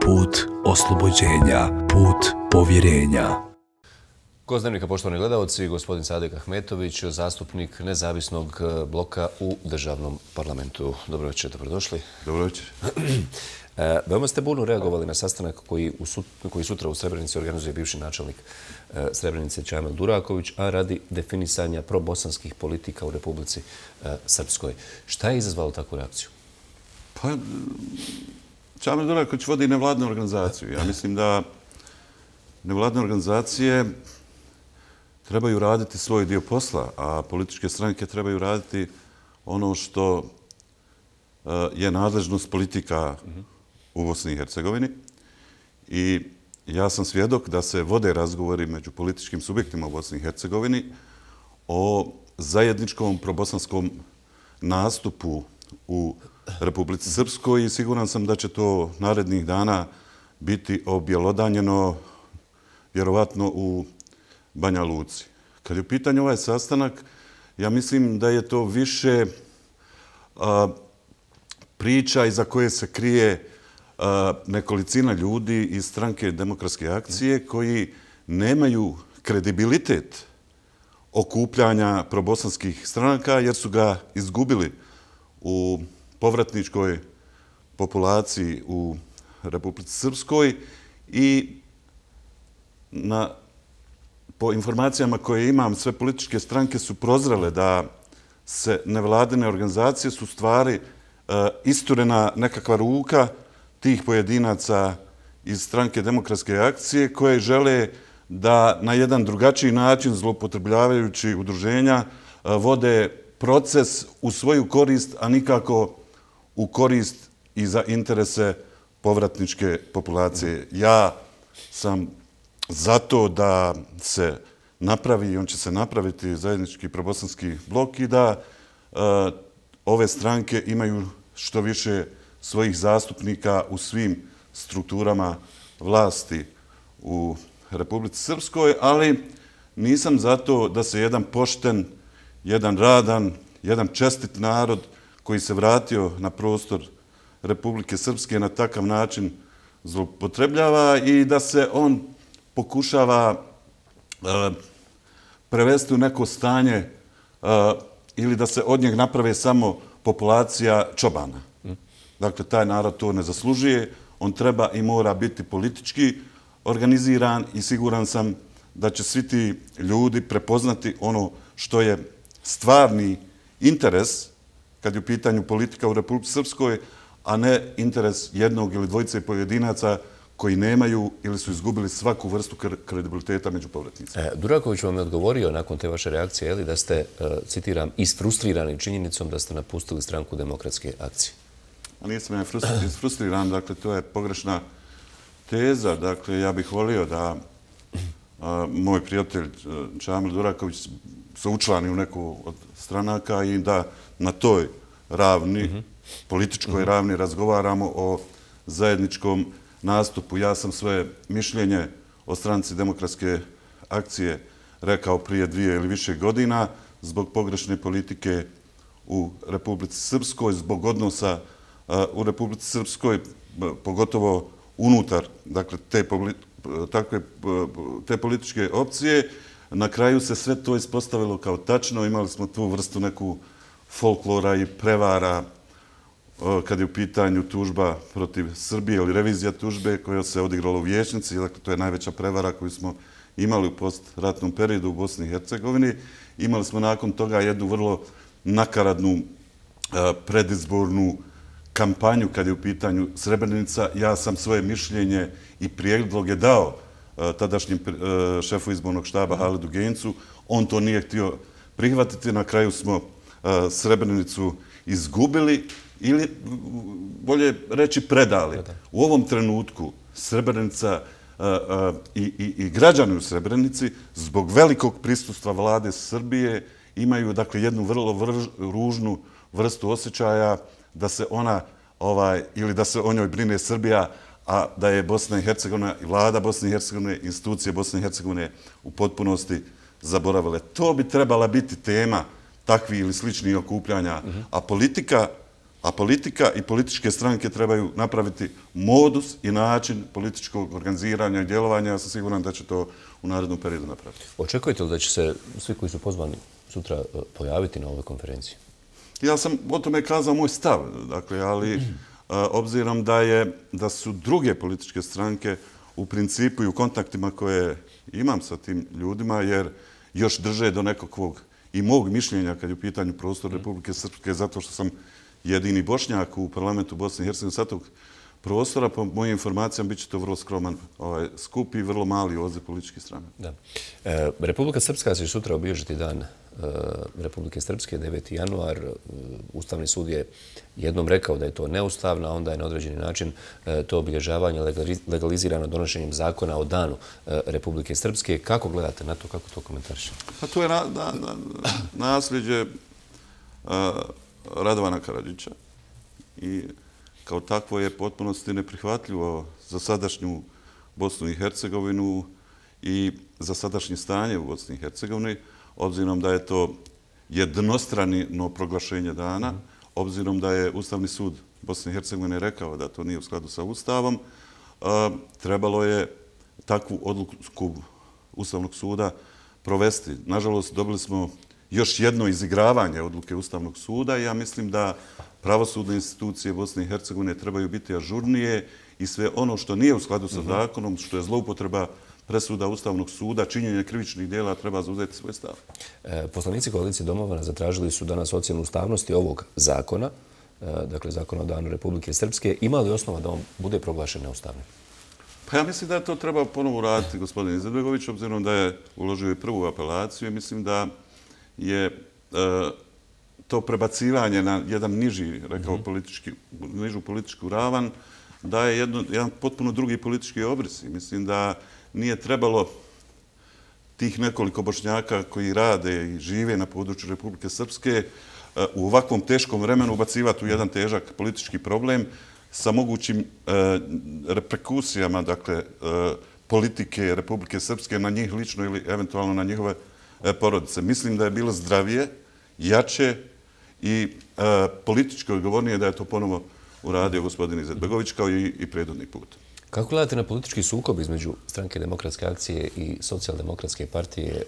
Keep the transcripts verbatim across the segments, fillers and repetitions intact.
put oslobođenja, put povjerenja. Gost Dnevnika, poštovani gledalci, gospodin Sadek Ahmetović, zastupnik nezavisnog bloka u državnom parlamentu. Dobro večer, dobrodošli. Dobro večer. Veoma ste burno reagovali na sastanak koji, u sut, koji sutra u Srebrenici organizuje bivši načelnik Srebrenice Čamil Duraković, a radi definisanja probosanskih politika u Republici Srpskoj. Šta je izazvalo takvu reakciju? Pa, Čamil Duraković vodi nevladnu organizaciju. Ja mislim da nevladne organizacije trebaju raditi svoj dio posla, a političke stranke trebaju raditi ono što je nadležnost politika u Bosni i Hercegovini. I ja sam svjedok da se vode razgovori među političkim subjektima u Bosni i Hercegovini o zajedničkom probosanskom nastupu u Republici Srpskoj i siguran sam da će to narednih dana biti objelodanjeno vjerovatno u Banja Luci. Kad je u pitanju ovaj sastanak, ja mislim da je to više a, priča iza koje se krije a, nekolicina ljudi iz stranke Demokratske akcije koji nemaju kredibilitet okupljanja probosanskih stranaka jer su ga izgubili u povratničkoj populaciji u Republici Srpskoj i na, po informacijama koje imam, sve političke stranke su prozrele da se nevladine organizacije su stvari e, isturena nekakva ruka tih pojedinaca iz stranke Demokratske akcije koje žele da na jedan drugačiji način, zloupotrebljavajući udruženja, e, vode proces u svoju korist, a nikako u korist i za interese povratničke populacije. Ja sam zato da se napravi, i on će se napraviti, zajednički probosanski blok i da uh, ove stranke imaju što više svojih zastupnika u svim strukturama vlasti u Republici Srpskoj, ali nisam zato da se jedan pošten, jedan radan, jedan čestit narod koji se vratio na prostor Republike Srpske na takav način zloupotrebljava i da se on pokušava uh, prevesti u neko stanje uh, ili da se od njeg naprave samo populacija čobana. Mm. Dakle, taj narod to ne zaslužuje. On treba i mora biti politički organiziran i siguran sam da će svi ti ljudi prepoznati ono što je stvarni interes kad je u pitanju politika u Republici Srpskoj, a ne interes jednog ili dvojice pojedinaca koji nemaju ili su izgubili svaku vrstu kredibiliteta među povratnicima. E, Duraković vam je odgovorio nakon te vaše reakcije, je li, da ste, citiram, isfrustrirani činjenicom da ste napustili stranku Demokratske akcije? A nisam ja isfrustriran, dakle, to je pogrešna teza. Dakle, ja bih volio da a, moj prijatelj Čamil Duraković se učlani u neku od stranaka i da na toj ravni, mm-hmm. političkoj mm-hmm. ravni razgovaramo o zajedničkom nastupu. Ja sam svoje mišljenje o stranci Demokratske akcije rekao prije dvije ili više godina zbog pogrešne politike u Republici Srpskoj, zbog odnosa uh, u Republici Srpskoj, pogotovo unutar dakle, te, takve, te političke opcije. Na kraju se sve to ispostavilo kao tačno. Imali smo tu vrstu neku folklora i prevara kad je u pitanju tužba protiv Srbije ili revizija tužbe koja se odigrala u Vijećnici. Dakle, to je najveća prevara koju smo imali u postratnom periodu u Bosni i Hercegovini. Imali smo nakon toga jednu vrlo nakaradnu predizbornu kampanju kad je u pitanju Srebrenica. Ja sam svoje mišljenje i prijedloge dao tadašnjem šefu izbornog štaba Halidu Gencu. On to nije htio prihvatiti. Na kraju smo Srebrenicu izgubili ili, bolje reći, predali. U ovom trenutku Srebrenica i, i, i građani u Srebrenici zbog velikog prisustva vlade Srbije imaju dakle, jednu vrlo vrž, ružnu vrstu osjećaja da se ona ovaj, ili da se o njoj brine Srbija, a da je Bosna i Hercegovina i vlada Bosne i Hercegovine, institucije Bosne i Hercegovine u potpunosti zaboravile. To bi trebala biti tema takvih ili sličnih okupljanja, a politika A politika i političke stranke trebaju napraviti modus i način političkog organiziranja i djelovanja. Ja sam siguran da će to u narednom periodu napraviti. Očekujete li da će se svi koji su pozvani sutra pojaviti na ovoj konferenciji? Ja sam o tome kazao moj stav, dakle, ali a, obzirom da, je, da su druge političke stranke u principu i u kontaktima koje imam sa tim ljudima, jer još drže do nekakvog i mog mišljenja kad je u pitanju prostor Republike Srpske, zato što sam jedini Bošnjak u parlamentu Bosne i Hercegovine sa tog prostora, po mojim informacijama bit će to vrlo skroman ovaj, skup i vrlo mali odziv političkih strana. Da. E, Republika Srpska će sutra obilježiti dan e, Republike Srpske, deveti januar. E, Ustavni sud je jednom rekao da je to neustavno, a onda je na određeni način e, to obilježavanje legalizirano donošenjem zakona o danu e, Republike Srpske. Kako gledate na to, kako to komentarišete? Pa to je na, na, na, nasljeđe a, Radovana Karadžića i kao takvo je potpunosti neprihvatljivo za sadašnju Bosnu i Hercegovinu i za sadašnje stanje u Bosni i Hercegovini, obzirom da je to jednostrano proglašenje dana, obzirom da je Ustavni sud Bosne i Hercegovine rekao da to nije u skladu sa Ustavom, trebalo je takvu odluku Ustavnog suda provesti. Nažalost, dobili smo još jedno izigravanje odluke Ustavnog suda i ja mislim da pravosudne institucije Bosne i Hercegovine trebaju biti ažurnije i sve ono što nije u skladu sa zakonom, što je zloupotreba presuda Ustavnog suda, činjenje krivičnih djela, treba zauzeti svoj stav. E, poslanici koalicije Domovana zatražili su danas ocjenu ustavnosti ovog zakona, e, dakle zakona o danu Republike Srpske. Ima li osnova da on bude proglašen neustavnim? Pa ja mislim da to treba ponovo raditi gospodin Izetbegović, obzirom da je uložio i prvu apelaciju i mislim da je e, to prebacivanje na jedan niži, rekao, politički, nižu političku ravan, da je jedno, jedan potpuno drugi politički obris. I mislim da nije trebalo tih nekoliko Bošnjaka koji rade i žive na području Republike Srpske u ovakvom teškom vremenu ubacivati u jedan težak politički problem sa mogućim e, reperkusijama, dakle, e, politike Republike Srpske na njih lično ili eventualno na njihove e, porodice. Mislim da je bilo zdravije, jače i e, politički odgovornije da je to ponovo uradio gospodin Izetbegović kao i, i prethodni put. Kako gledate na politički sukob između Stranke demokratske akcije i Socijaldemokratske partije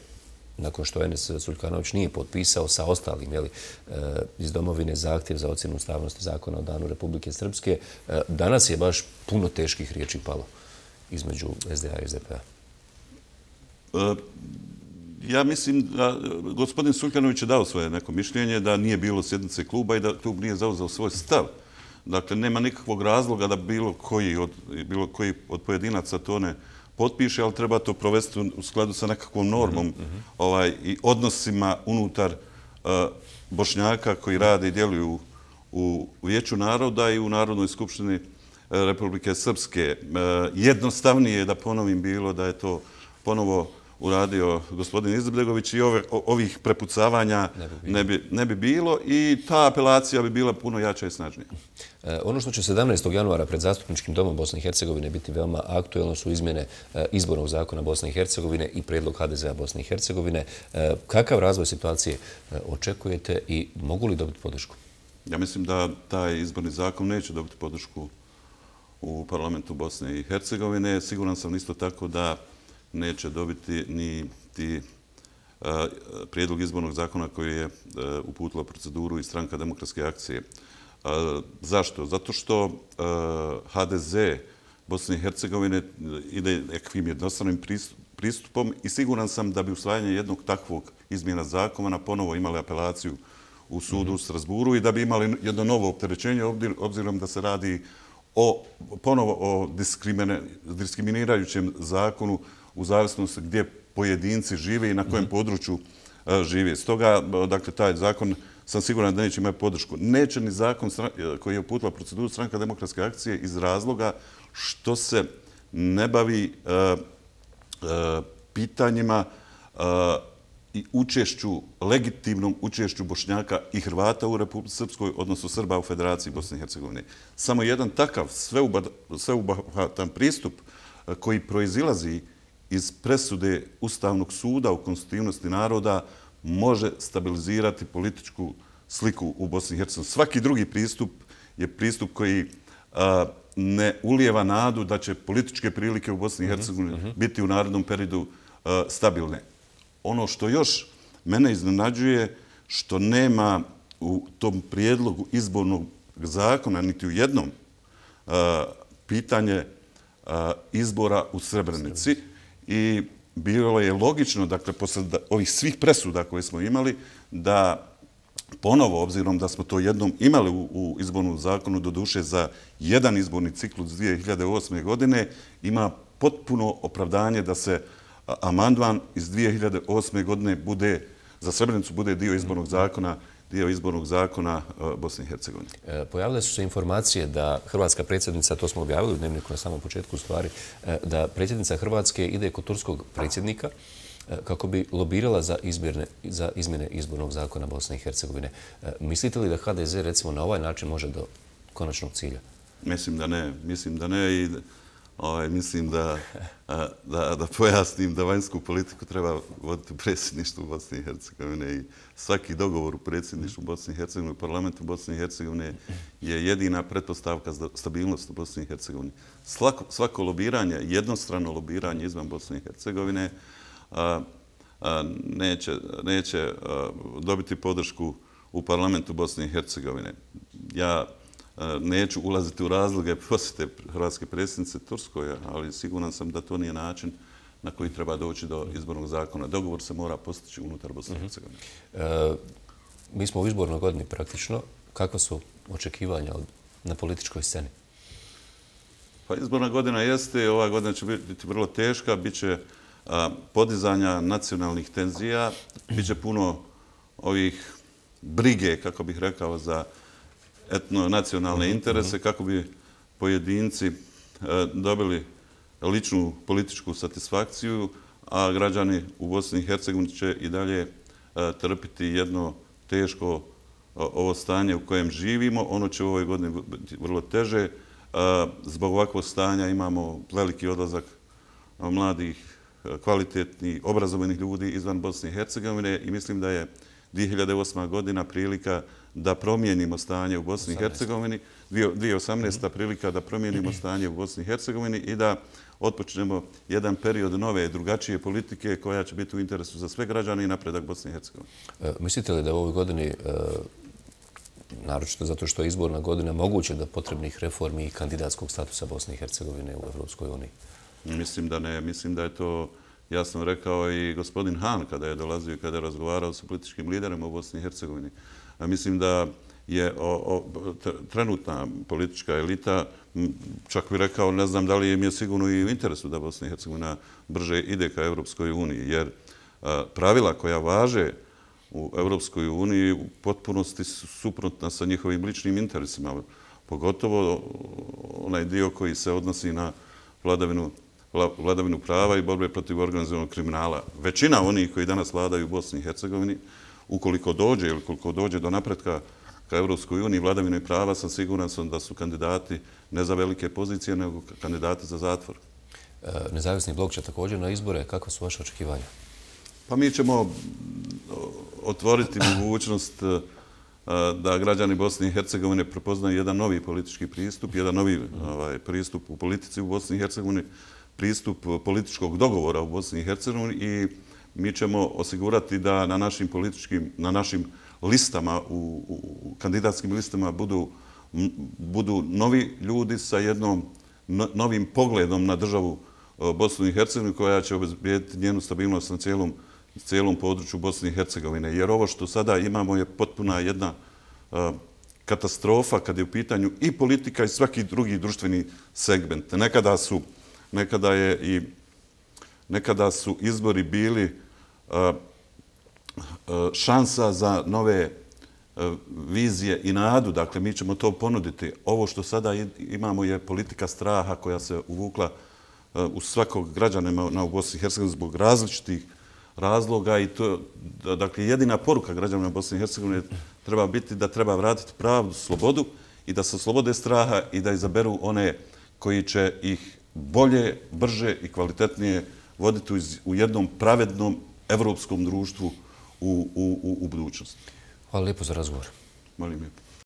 nakon što Enes Suljkanović nije potpisao sa ostalim jeli, iz domovine zahtjev za ocjenu ustavnosti zakona o danu Republike Srpske? Danas je baš puno teških riječi palo između S D A i S D P A. Ja mislim da gospodin Suljkanović je dao svoje neko mišljenje da nije bilo sjednice kluba i da klub nije zauzeo svoj stav. Dakle, nema nikakvog razloga da bilo koji od, bilo koji od pojedinaca to ne potpiše, ali treba to provesti u skladu sa nekakvom normom mm-hmm. ovaj, i odnosima unutar uh, Bošnjaka koji rade i djeluju u, u Vijeću naroda i u Narodnoj skupštini uh, Republike Srpske. Uh, jednostavnije je da ponovim bilo da je to ponovo uradio gospodin Izetbegović i ove, ovih prepucavanja ne bi, ne, bi, ne bi bilo i ta apelacija bi bila puno jača i snažnija. E, ono što će sedamnaestog januara pred Zastupničkim domom Bosne i Hercegovine biti veoma aktuelno su izmjene e, izbornog zakona Bosne i Hercegovine i prijedlog H D Z A Bosne i Hercegovine. E, kakav razvoj situacije e, očekujete i mogu li dobiti podršku? Ja mislim da taj izborni zakon neće dobiti podršku u parlamentu Bosne i Hercegovine. Siguran sam isto tako da neće dobiti ni ti uh, prijedlog izbornog zakona koji je uh, uputila proceduru i Stranka demokratske akcije. Uh, zašto? Zato što uh, H D Z Bosne i Hercegovine ide nekakvim jednostranim pristupom i siguran sam da bi usvajanje jednog takvog izmjena zakona ponovo imali apelaciju u sudu u Strasburu i da bi imali jedno novo opterećenje, obzirom da se radi o, ponovo o diskriminirajućem zakonu u zavisnosti gdje pojedinci žive i na kojem području žive. Stoga, dakle, taj zakon sam siguran da neće imati podršku. Neće ni zakon koji je uputila proceduru Stranka demokratske akcije iz razloga što se ne bavi uh, uh, pitanjima uh, i učešću, legitimnom učešću Bošnjaka i Hrvata u Republici Srpskoj, odnosno Srba u Federaciji Bosne i Hercegovine. Samo jedan takav sveobuhvatan pristup koji proizilazi iz presude Ustavnog suda u konstitutivnosti naroda može stabilizirati političku sliku u Bosni i Hercegovini. Svaki drugi pristup je pristup koji ne ulijeva nadu da će političke prilike u Bosni i Hercegovini biti u narednom periodu stabilne. Ono što još mene iznenađuje, što nema u tom prijedlogu izbornog zakona, niti u jednom, pitanje izbora u Srebrenici. I bilo je logično, dakle, posle ovih svih presuda koje smo imali, da ponovo, obzirom da smo to jednom imali u izbornom zakonu, doduše za jedan izborni ciklus dvije hiljade osme. godine, ima potpuno opravdanje da se amandman iz dvije hiljade osme. godine bude, za Srebrenicu bude dio izbornog zakona, dio izbornog zakona Bosne i Hercegovine. Pojavile su se informacije da hrvatska predsjednica, to smo objavili u dnevniku na samom početku stvari, da predsjednica Hrvatske ide kod turskog predsjednika kako bi lobirala za izmjene izbornog zakona Bosne i Hercegovine. Mislite li da H D Z recimo na ovaj način može do konačnog cilja? Mislim da ne. Mislim da ne i mislim da pojasnim da vanjsku politiku treba voditi u predsjedništvu Bosne i Hercegovine i svaki dogovor u predsjedništvu Bosne i Hercegovine, u parlamentu Bosne i Hercegovine je jedina pretpostavka za stabilnost u Bosni i Hercegovini. Svako lobiranje, jednostrano lobiranje izvan Bosne i Hercegovine neće dobiti podršku u parlamentu Bosne i Hercegovine. Ja neću ulaziti u razloge posjete hrvatske predsjednice Turskoj, ali siguran sam da to nije način na koji treba doći do izbornog zakona. Dogovor se mora postići unutar Bosne i Hercegovine. Mi smo u izbornoj godini praktično. Kakva su očekivanja na političkoj sceni? Pa izborna godina jeste, ova godina će biti vrlo teška, bit će podizanja nacionalnih tenzija, bit će puno ovih brige, kako bih rekao, za etno-nacionalne interese, kako bi pojedinci dobili ličnu političku satisfakciju, a građani u Bosni i Hercegovini će i dalje trpiti jedno teško ovo stanje u kojem živimo. Ono će u ovoj godini biti vrlo teže. Zbog ovakvog stanja imamo veliki odlazak mladih, kvalitetnih, obrazovanih ljudi izvan Bosne i Hercegovine i mislim da je dvije hiljade osma. godina prilika da promijenimo stanje u Bosni i Hercegovini, dvije hiljade osamnaesta. prilika da promijenimo stanje u Bosni i Hercegovini i da otpočnemo jedan period nove, drugačije politike koja će biti u interesu za sve građane i napredak Bosne i Hercegovine. Mislite li da u ovoj godini, naročito zato što je izborna godina, moguće da potrebnih reformi i kandidatskog statusa Bosne i Hercegovine u Evropskoj uniji? Mislim da ne. Mislim da je to jasno rekao i gospodin Han kada je dolazio i kada je razgovarao sa političkim liderima u Bosni i Hercegovini. Mislim da je trenutna politička elita, čak bih rekao, ne znam da li im je sigurno i u interesu da Bosna i Hercegovina brže ide ka Evropskoj uniji, jer pravila koja važe u Evropskoj uniji u potpunosti su suprotna sa njihovim ličnim interesima, pogotovo onaj dio koji se odnosi na vladavinu vladavinu prava i borbe protiv organizovanog kriminala. Većina onih koji danas vladaju u Bosni i Hercegovini, ukoliko dođe ili koliko dođe do napretka ka Evropskoj uniji vladavine prava, sam siguran sam da su kandidati ne za velike pozicije, nego kandidati za zatvor. Nezavisni blok će također na izbore. Kakva su vaše očekivanja? Pa mi ćemo otvoriti mogućnost da građani Bosne i Hercegovine prepoznaju jedan novi politički pristup, jedan novi pristup u politici u Bosni i Hercegovini, pristup političkog dogovora u Bosni i Hercegovini i mi ćemo osigurati da na našim političkim, na našim listama, u kandidatskim listama budu novi ljudi sa jednom novim pogledom na državu Bosnu i Hercegovinu koja će obezbijediti njenu stabilnost na cijelom području Bosne i Hercegovine. Jer ovo što sada imamo je potpuna jedna katastrofa kad je u pitanju i politika i svaki drugi društveni segment. Nekada su Nekada je i nekada su izbori bili šansa za nove vizije i nadu. Dakle, mi ćemo to ponuditi. Ovo što sada imamo je politika straha koja se uvukla u svakog građanima u Bosni i Hercegovini zbog različitih razloga i to, dakle, jedina poruka građanima Bosne i Hercegovine treba biti da treba vratiti pravdu, slobodu i da se oslobode straha i da izaberu one koji će ih bolje, brže i kvalitetnije voditi u jednom pravednom evropskom društvu u budućnosti. Hvala lijepo za razgovor. Molim lijepo.